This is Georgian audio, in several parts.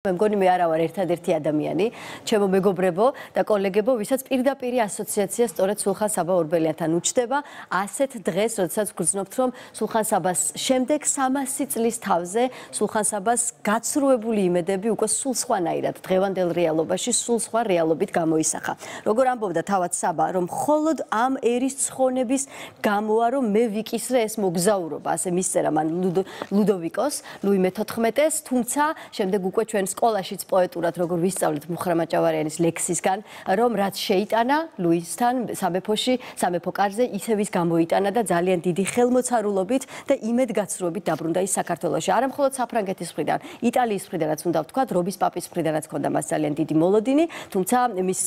მე მგონი მე არა ვარ ერთადერთი ადამიანი, ჩემო მეგობრებო და კოლეგებო, ვისაც პირდაპირ ასოციაცია სწორედ სულხან საბა ორბელიანთან უჩდება, ასეთ დღეს, როდესაც გრძნობთ, რომ სულხან საბას შემდეგ 300 წლის თავზე სულხან საბას გაცრუებული იმედები უკვე სულ სხვანაირად დღევანდელ რეალობაში, სულ სხვა რეალობით გამოისახა. როგორ ამბობდა თავად საბა, რომ მხოლოდ ამ ერის ცხონების გამოა, რომ მე ვიკისრე ეს მოგზაურობა, ასე მისწერა მან ლუდოვიკოს, ლუი მე-14-ს, თუმცა შემდეგ უკვე ჩვენ სკოლაშიც პოეტურად როგორ ვისწავლეთ მუხრა მაჭავარიანის ლექსისგან, რომ რაც შეიტანა ლუისთან სამეფოში, სამეფო კარზე ისევ ის გამოიტანა და ძალიან დიდი ხელმოწარულობით და იმედგაცრუებით დაბრუნდა ის საქართველოში. არა მხოლოდ საფრანგეთის მხრიდან, იტალიის მხრიდანაც უნდა ვთქვათ, რომის პაპის მხრიდანაც ჰქონდა მას ძალიან დიდი მოლოდინი, თუმცა მის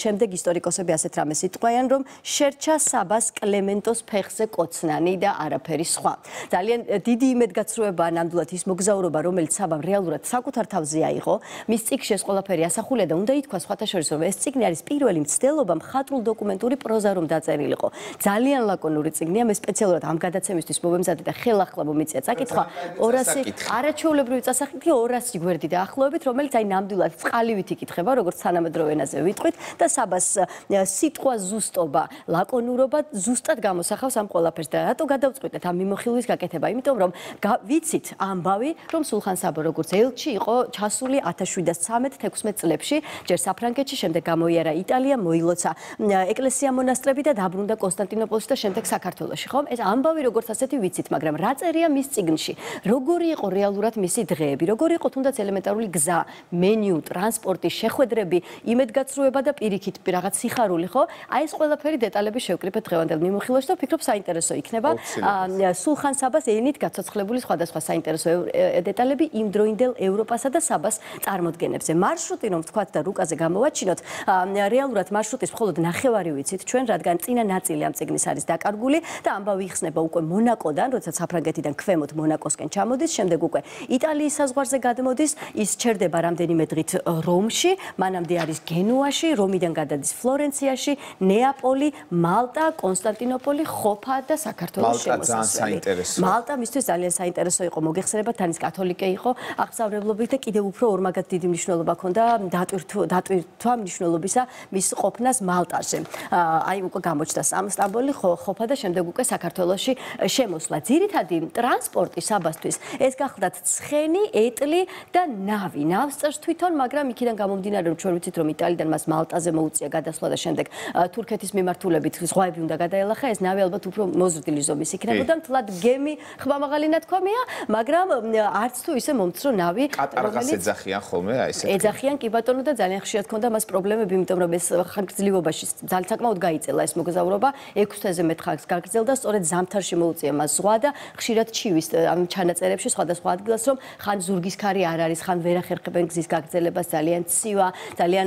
შემდეგ ისტორიკოსები ასეთ რამეს იტყვიან, რომ შერჩა საბას კლემენტოს ფეხზე კოცნანი და არაფერი სხვა. ძალიან დიდი იმედგაცრუებაა ნამდვილად ის მოგზაურობა, რომელიც საბამ რეალურად საკუთარ თავზე აიღო, მის წიგნში ეს ყველაფერი ასახულია და უნდა ითქვას სხვათა შორის, რომ ეს წიგნი არის პირველი მცდელობა მხატვრულ დოკუმენტური პროზა რომ დაწერილიყო. ძალიან ლაკონური წიგნია, მე სპეციალურად ამ გადაცემისთვის მოვემზადე და ხელახლა მომიწია წაკითხვა 200 არაჩვეულებრივი წასახითი 200 გვერდი დაახლოებით, რომელიც აი ნამდვილად წყალივით იკითხება, როგორც თანამედროვე ენაზე ვიტყვით და საბას სიტყვა ზუსტობა, ლაკონურობა ზუსტად გამოსახავს ამ ყველაფერს და რატო გადავწყვიტეთ ამ მიმოხილვის გაკეთება? იმიტომ რომ ვიცით ამბავი, რომ სულხან საბა როგორც ელჩი იყო ჩასული 1713-16 წლებში, ჯერ საფრანგეთში, შემდეგ გამოიარა იტალია, მოილოცა ეკლესია მონასტრები და დაბრუნდა კონსტანტინოპოლში და შემდეგ საქართველოში, ხომ? ეს ამბავი როგორც ასეთი ვიცით, მაგრამ რა წერია მის წიგნში? როგორი იყო რეალურად მისი დღეები? როგორი იყო თუნდაც ელემენტარული გზა, მენიუ, ტრანსპორტი, შეხვედრები, იმედგაცრუება და პირიქით რაღაც სიხარული, ხო? აი ეს ყველაფერი დეტალები შევკრიბეთ დღევანდელ მიმოხილვაში და ვფიქრობ საინტერესო იქნება. სულხან საბას ენით გაცოცხლებული სხვადასხვა საინტერესო დეტალები იმდროინდელ ევროპასა და საბას წარმოდგენებზე. მარშრუტი რომ ვთქვათ და რუკაზე გამოვაჩინოთ, რეალურად მარშრუტის მხოლოდ ნახევარი ვიცით ჩვენ, რადგან წინა ნაწილი ამ წიგნის არის დაკარგული და ამბავი იხსნება უკვე მონაკოდან, როდესაც საფრანგეთიდან ქვემოთ მონაკოსკენ ჩამოდის, შემდეგ უკვე იტალიის საზღვარზე გადმოდის, ის ჩერდება რამდენიმე დღით რომში, მანამდე არის გენუაში, რომიდან გადადის ფლორენციაში, ნეაპოლი, მალტა, კონსტანტინოპოლი, ხოფა და საქართველოს შემოსასვლელი. მალტა მისთვის ძალიან საინტერესო იყო, მოგეხსენებათ, თანის კათოლიკე იყო, აღწავლებლობით და კიდევ უფრო ორმაგად დიდი მნიშვნელობა ჰქონდა დატვირთვა მნიშვნელობისა მის ყოფნას მალტაზე. აი უკვე გამოჩნდა სტამბოლი, ხოფა და შემდეგ უკვე საქართველოში შემოსვლა. ძირითადი ტრანსპორტი საბასთვის ეს გახლდათ ცხენი, ეტლი და ნავი. ნავს წერს თვითონ, მაგრამ იქიდან გამომდინარე, რომ ჩვენ ვიცით, რომ იტალიდან მას მალტაზე მოუწია გადასვლა და შემდეგ თურქეთის მიმართულებით ზღვები უნდა გადაელახა, ეს ნავი ალბათ უფრო მოზრდილი ზომის იქნებოდა. მთლად გემი ხმამაღალი ნათქვამია, მაგრამ არც თუ ისე მომცრო ნავი, კატარღას ეძახიან ხოლმე, აი ესე. ეძახიან კი ბატონო და ძალიან ხშირად ჰქონდა მას პრობლემები, იმიტომ რომ ეს ხანგრძლივობაში ძალიან საკმაოდ გაიწელა ეს მოგზაურობა, 6 თვეზე მეტ ხანს გაგრძელდა, სწორედ ზამთარში მოუწია მას ზღვა და ხშირად ჩივის ამ ჩანაწერებში სხვადასხვა ადგილას, რომ ხან ზურგის ქარი არ არის, ხან ვერ ახერხებენ გზის გაგრძელებას, ძალიან ცივა, ძალიან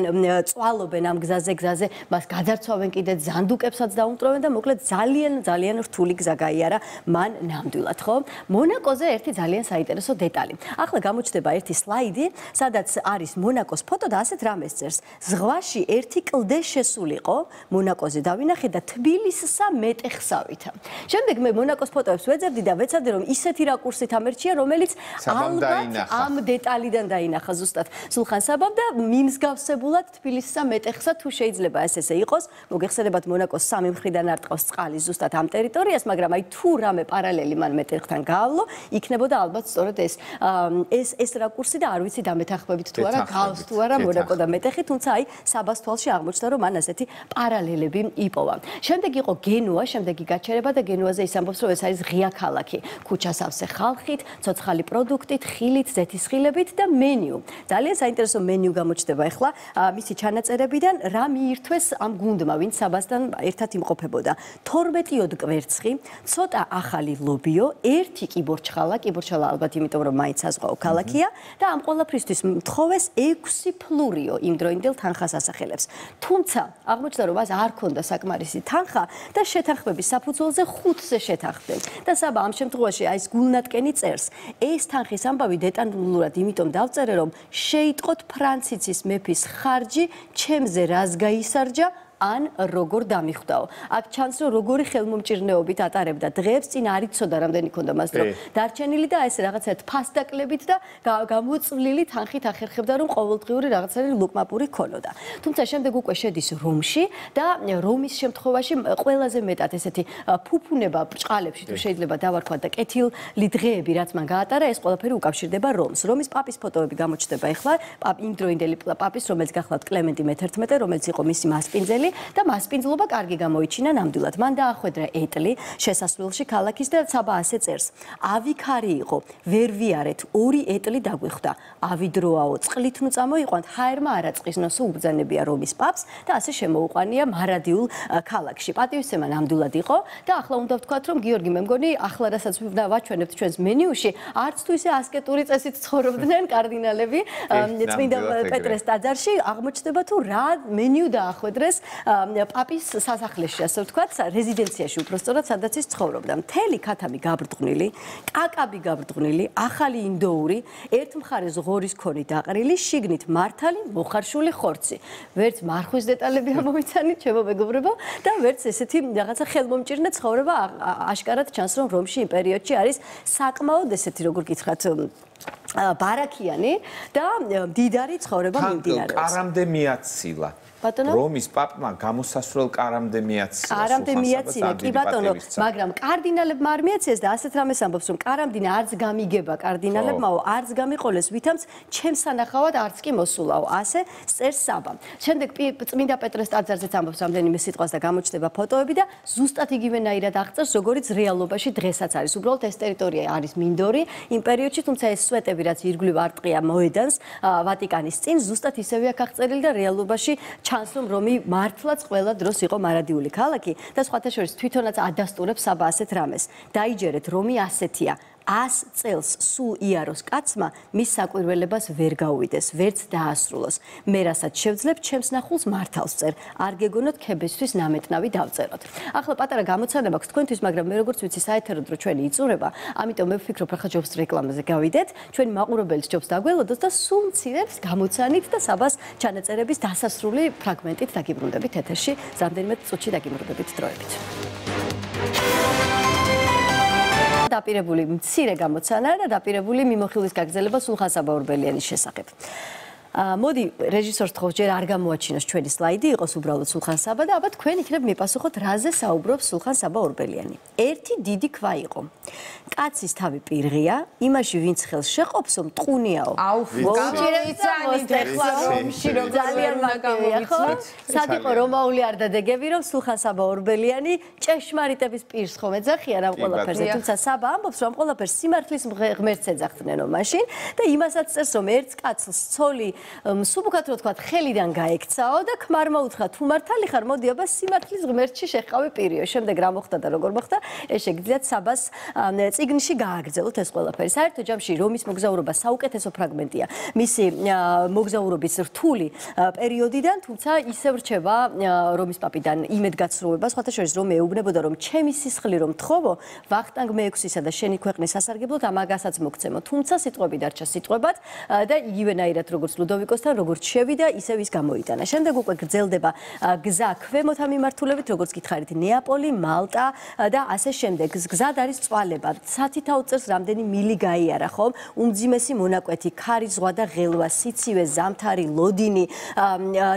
წვალობენ ამ გზაზე, მას გაძარცვავენ კიდე ზანდუკებსაც დაუმტვრევენ და მოკლედ ძალიან რთული გზა გაიარა მან ნამდვილად, ხო? მონაკოზე ერთი ძალიან საინტერესო დეტალი. ახლა გამოჩნდება ერთი სლაიდი, სადაც არის მონაკოს ფოტო და ასეთ რამეს წერს. ზღვაში ერთი კლდე შესულიყო, მონაკოზე დავინახე და თბილისსა მეტეხსავითა. შემდეგ მე მონაკოს ფოტოებს ვეძებდი და ვეცადე რომ ისეთი რაკურსით ამერჩია, რომელიც ალბათ ამ დეტალიდან დაინახა ზუსტად სულხან საბამ და მიმსგავსებულად თბილისსა მეტეხსა თუ შეიძლება ესე იყოს. მოგეხსენებათ მონაკოს სამი მხრიდან არტყავს წყალი ზუსტად ამ ტერიტორიას, მაგრამ აი თუ რამე პარალელი მან მეტეხთან გაავლო, იქნებოდა ალბათ სწორედ ეს რაკურსი და არ ვიცი დამეთანხმებით თუ არა გავს თუ არა მონაკო და მეტეხი, თუმცა აი საბას თვალში აღმოჩნდა რომ მან ასეთი პარალელები იპოვა. შემდეგ იყო გენუა, შემდეგი გაჩერება და გენუაზე ის ამბობს რომ ეს არის ღია ქალაქი, ქუჩა სავსე ხალხით, ცოცხალი პროდუქტით, ხილით, ზეთისხილებით და მენიუ. ძალიან საინტერესო მენიუ გამოჩნდება ახლა მისი ჩანაწერებიდან, რა მიირთვეს ამ გუნდმა, ვინც საბასთან ერთად იმყოფებოდა. 12 კვერცხი, ცოტა ახალი ლობიო, ერთი კიბორჩხალა ალბათ იმიტომ რომ მაინც საზღვაო ქალაქია და ამ ყველაფრისთვის მთხოვეს 6 ფლურიო იმდროინდელ თანხას ასახელებს. თუმცა აღმოჩნდა რომ მას არ ჰქონდა საკმარისი თანხა და შეთანხმების საფუძველზე 5-ზე შეთანხმდნენ. და საბა ამ შემთხვევაში აი ეს გულნატკენი წერს. ეს თანხის ამბავი დეტალურად იმიტომ დავწერე რომ შეიტყოთ ფრანცისის მეფის ხარჯი, ჩემზე რას გაისარჯა ან როგორ დამიხვდაო. აქ ჩანს რომ როგორი ხელმომჭირნეობით ატარებდა დღეებს, წინ არ იცოდა რამდენი ქონდა მას დრო დარჩენილი და ესე რაღაცა ფასდაკლებით და გამოწვლილი თანხით ახერხებდა რომ ყოველდღიური რაღაცა ლუკმაპური ქონოდა. თუმცა შემდეგ უკვე შედის რომში და რომის შემთხვევაში ყველაზე მეტად ესეთი ფუფუნება ბრჭყალებში თუ შეიძლება დავარქვათ და კეთილი დღეები რაც მან გაატარა ეს ყველაფერი უკავშირდება რომს. რომის პაპის ფოტოები გამოჩნდება ახლა იმდროინდელი პაპის რომელიც გახლავთ კლემენტი მე-11 რომელიც იყო მისი მასპინძელი და მასპინძლობა კარგი გამოიჩინა ნამდვილად. მან დაახვედრა ეტლი შესასვლელში ქალაქის და საბა ასე წერს. ავიქარი იყო, ვერ ვიარეთ, 2 ეტლი დაგვიხვდა. ავიდროაო, წყლით ნუ წამოიყვანთ, ჰაერმა არაწყიზნოსო უბრძანებია რომის პაპს და ასე შემოუყვანია მარადიულ ქალაქში. პატივისცემა ნამდვილად იყო და ახლა უნდა ვთქვათ, რომ გიორგი მე მგონი ახლა რასაც ვაჩვენებთ ჩვენს მენიუში, არც თუ ისე ასკეტური წესით ცხოვრობდნენ კარდინალები წმინდა პეტრეს ტაძარში, აღმოჩნდება თუ რა მენიუ დაახვედრეს პაპის სასახლეში, ასე ვთქვათ, რეზიდენციაში უпростоრად სადაც ის ცხოვრობდა. მთელი ქათამი გაბრტყვნილი, კაკაბი გაბრტყვნილი, ახალი ინდოური, ერთ მხარეს ღორის ქონი დაყრილი, შიგნით მართალი, მოხარშული ხორცი. ვერც მარხვის დეტალები ამოვიცანით, ჩემო მეგობრებო, და ვერც ესეთი რაღაცა ხელმომჭირნე ცხოვრება აშკარად ჩანს, რომ რომში იმ პერიოდში არის საკმაოდ ესეთი როგორ გითხრათ ბარაქიანი და მდიდარი ცხოვრება მიმდინარეობს. კარამდე მიაცილა. რომის პაპმა გამოსასვლელ კარამდე მიაცილა. კარამდე მიაცილა, კი ბატონო, მაგრამ კარდინალებმა არ მიაციეს და ასეთ რამეს ამბობს, რომ კარამდინა არც გამიგება კარდინალებმაო, არც გამიყოლეს ვითამს ჩემს სანახავად არც კი მოსულაო. ასე წერს საბა. შემდეგ წმინდა პეტრეს ტაძარზეც ამბობს რამდენიმე სიტყვას და გამოჩნდება ფოტოები და ზუსტად იგივენაირად აღწერს, როგორიც რეალობაში დღესაც არის. უბრალოდ ეს ტერიტორია არის მინდორი იმ პერიოდში, თუმცა ეს სვეტები რაც ირგვლივ არტყია მოედანს ვატიკანის წინ, ზუსტად ისევე აქ აღწერილი და რეალობაში ჩანს რომ რომი მართლაც ყველა დროს იყო მარადიული ქალაქი და სხვათა შორის თვითონაც ადასტურებს საბა ასეთ რამეს. დაიჯერეთ რომი ასეთია. 100 წელს სულ იაროს კაცმა მის საკვირველებას ვერ გაუვიდეს, ვერც დაასრულოს. მე რასაც შევძლებ, ჩემს ნახულს მართალს წერ. არ გეგონოთ ქებისთვის ნამეტნავი დავწეროთ. ახლა პატარა გამოცანება აქვს თქვენთვის, მაგრამ მე როგორც ვიცი, საეთერო დრო ჩვენი იწურება, ამიტომ მე ვფიქრობ, ახლა ჯობს რეკლამაზე გავიდეთ, ჩვენი მაყურებელი ჯობს დაგველოდოს და სულ მცირებს გამოცანით და საბას ჩანაწერების დასასრული ფრაგმენტით დაგიბრუნდებით ეთერში, რამდენიმე წუთში დაგიბრუნდებით დროებით. დაპირებული მცირე გამოცანა და დაპირებული მიმოხილვის გაგრძელება სულხან-საბა ორბელიანის შესახებ. მოდი რეჟისორს თხოვს ჯერ არ გამოაჩინოს ჩვენი სლაიდი, იყოს უბრალოდ სულხან-საბა და აბა თქვენ იქნებ მიპასუხოთ რაზე საუბრობს სულხან-საბა ორბელიანი. ერთი დიდი ქვა იყო. კაცის თავი პირღია, იმაში ვინც ხელს შეყოფსო მტყუნიაო. ძალიან მაგარია, ხო? სად იყო რომაული არდადეგები, რომ სულხან-საბა ორბელიანი ჭეშმარიტების პირს ხომ ეძახიან ამ ყველაფერზე, თუმცა საბა ამბობს, რომ ყველაფერს სიმართლის ღმერთს ეძახთნენო მაშინ და იმასაც წერს, რომ ერთ კაცს ცოლი სუბუქად რო თქვა ხელიდან გაექცაო და ქმარმა უთხრა თუ მართალი ხარ მოდი აბა სიმართლის ღმერთში შეხავი პირიო. შემდეგ რა მოხდა და როგორ მოხდა ეს შეგიძლიათ საბას წიგნში გააგრძელოთ ეს ყველაფერი. საერთო ჯამში რომის მოგზაურობა საუკეთესო ფრაგმენტია მისი მოგზაურობის რთული პერიოდიდან, თუმცა ისევ რჩება რომის პაპიდან იმედგაცრუება, სხვათა შორის რომ ეუბნებოდა რომ ჩემი სისხლი რომ თხოვო ვახტანგ მე-6-ისა და შენი ქვეყნის სასარგებლოდ ამაგასაც მოგცემო. თუმცა სიტყვები დარჩა სიტყვებად და იგივენაირად როგორც ლუდოვიკოსთან როგორც შევიდა, ისევ ის გამოიტანა. შემდეგ უკვე გრძელდება გზა ქვემოთა მიმართულებით, როგორც გითხარით, ნეაპოლი, მალტა და ასე შემდეგ. გზად არის წვალება. სათითაოდ წერს რამდენი მილი გაიარა, ხომ? უმძიმესი მონაკვეთი, ქარი ზღვა და ღელვა, სიცივე, ზამთარი, ლოდინი,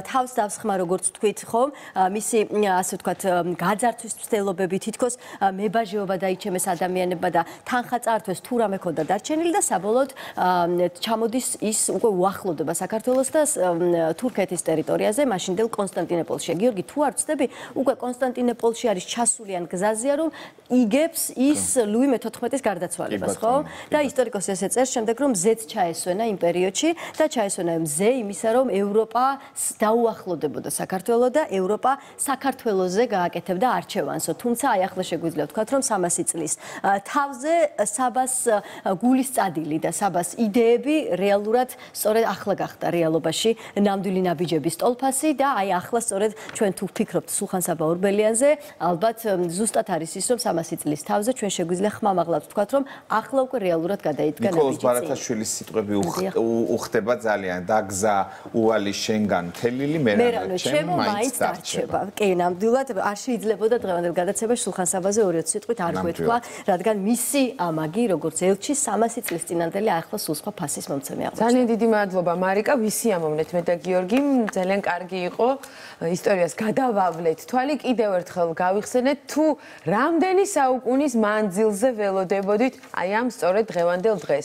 თავს დავსხმა, როგორც თქვით, ხომ? მისი ასე ვთქვათ, გაძარცვის მცდელობები, თითქოს მებაჟეობა დაიჩემეს ადამიანებმა და თანხა წაართვეს თუ რამე ქონდა დარჩენილი და საბოლოოდ ჩამოდის ის უკვე უახლოვდება საქართველოს და თურქეთის ტერიტორიაზე, მაშინდელ კონსტანტინოპოლში. გიორგი, თუ არ ვცდები, უკვე კონსტანტინოპოლში არის ჩასული ან გზაზეა, რომ იგებს ის ლუი მე-14-ის გარდაცვალებას, ხო? და ისტორიკოსი ესე წერს შემდეგ, რომ მზეც ჩაესვენა იმ პერიოდში და ჩაესვენა მზე იმისა, რომ ევროპა დაუახლოვდებოდა საქართველოს და ევროპა საქართველოზე გააკეთებდა არჩევანსო. თუმცა აი ახლა შეგვიძლია ვთქვათ, რომ 300 წლის თავზე საბას გულის წადილი და საბას იდეები რეალურად სწორედ ახლა გახდა რეალობაში ნამდვილი ნაბიჯების ტოლფასი და აი ახლა სწორედ ჩვენ თუ ვფიქრობთ სულხან-საბა ორბელიანზე, ალბათ ზუსტად არის ის, რომ 300 წლის თავზე ჩვენ შეგვიძლია ხმამაღლად ვთქვათ, რომ ახლა უკვე რეალურად გადაიდგა ნაბიჯი. ნიკოლოზ ბარათაშვილის სიტყვები უხდება ძალიან დაგზა უვალი შენგან თელილი მერანო ჩემო მაინც დარჩება. კი, ნამდვილად არ შეიძლებოდა დღევანდელ გადაცემაში სულხან-საბაზე 2-20 სიტყვით არ გვეთქვა, რადგან მისი ამაგი, როგორც ელჩი 300 წლის წინანდელი ახლა სულ სხვა ფასის მომცემი აღმოჩნდა. ძალიან დიდი მადლობა მარიკა, ვისი ამოვნეთ მე და გიორგი, ძალიან კარგი იყო ისტორიას გადავავლეთ თვალი, კიდევ ერთხელ გავიხსენეთ თუ რამდენი საუკუნის მანძილზე ველოდებოდით აი ამ სწორედ დღევანდელ დღეს.